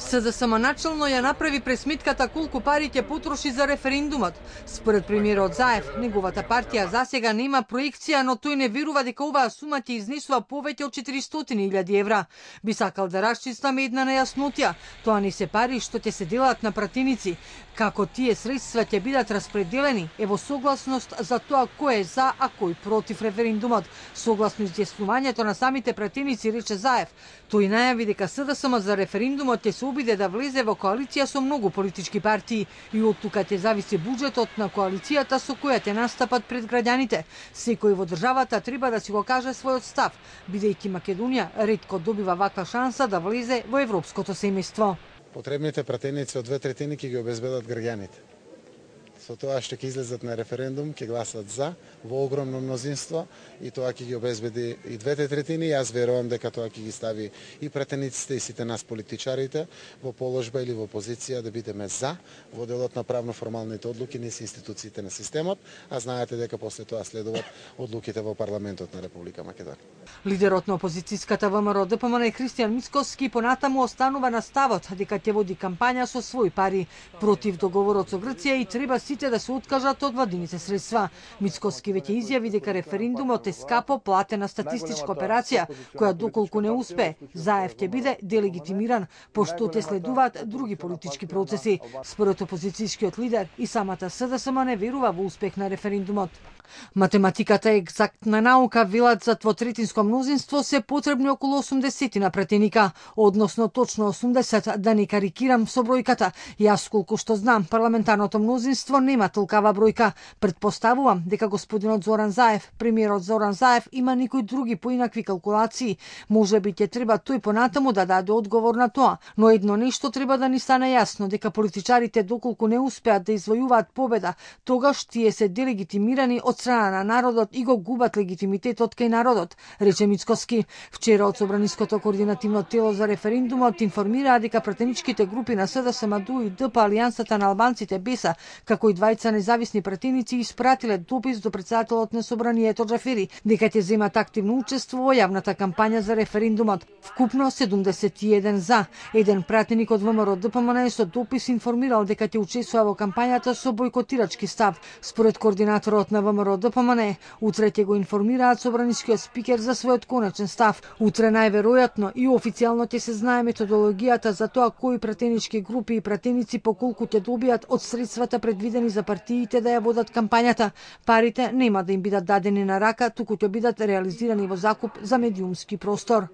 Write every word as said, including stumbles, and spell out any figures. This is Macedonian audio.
СДСМ начално ја направи пресметката колку пари ќе потроши за референдумот. Според премиерот Заев, неговата партија засега нема проекција, но тој не верува дека оваа сума ќе изнесува повеќе од четиристотини илјади евра. Би сакал да расчистаме една нејаснотија. Тоа не се пари што ќе се делат на пратеници. Како тие средства ќе бидат распределени е во согласност за тоа кој е за, а кој против референдумот. Согласно изјаснувањето на самите пратеници, рече Заев, тој најави дека СДСМ за референдумот ќе се обиде да влезе во коалиција со многу политички партии и од тука ќе зависи буџетот на коалицијата со која ќе настапат пред граѓаните. Секој во државата треба да си го каже својот став, бидејќи Македонија ретко добива ваква шанса да влезе во европското семејство. Потребните пратеници од две третини ќе ги обезбедат граѓаните. Со тоа што ќе излезат на референдум, ќе гласат за во огромно мнозинство и тоа ќе ги обезбеди и двете третини. Јас верувам дека тоа ќе ги стави и пратениците и сите нас политичарите во положба или во позиција да бидеме за во делот на правно-формалните одлуки низ институциите на системот, а знаете дека после тоа следуваат одлуките во парламентот на Република Македонија. Лидерот на опозицијската ВМРО Д П М Н Христијан Мицкоски понатаму останува на ставот дека ќе води кампања со свои пари против договорот со Грција и треба сите да се откажат од владините средства. Мицкоски веќе изјави дека референдумот е скапо платена статистичка операција, која доколку не успе, Заев ќе биде делегитимиран, пошто те следуваат други политички процеси. Според опозицијскиот лидер, и самата СДСМ не верува во успех на референдумот. Математиката е екзактна наука, велат за двотретинско мнозинство се потребни околу осумдесет на пратеника, односно точно осумдесет, да не карикирам со бројката. Јас колку што знам, парламентарното мнозинство нема толкава бројка. Предпоставувам дека господинот Зоран Заев, премиерот Зоран Заев, има некои други поинакви калкулации. Може би ќе треба тој понатаму да даде одговор на тоа, но едно нешто треба да ни стане јасно, дека политичарите доколку не успеат да извојуваат победа, тогаш тие се делегитимирани од страна на народот и го губат легитимитетот кај народот, рече Мицкоски. Вчера од Собраниското координативно тело за референдумот информираа дека пратеничките групи на СДСМ, Д У и Д П, Алијансата на албанците Беса, како и двајца независни пратеници испратиле допис до председателот на Собранието Џафери дека ќе земат активно учество во јавната кампања за референдумот. Вкупно седумдесет и еден за. Еден пратеник од ВМРО Д П М Н со допис информирал дека ќе учествува во кампањата со бојкотирачки став. Според координаторот на ВМРО Д П М Н, утре ќе го информираат собранискиот спикер за својот конечен став. Утре најверојатно и официјално ќе се знае методологијата за тоа кои пратенички групи и пратеници по колку ќе добијат од средствата предвидени за партиите да ја водат кампањата. Парите нема да им бидат дадени на рака, туку ќе бидат реализирани во закуп за медиумски простор.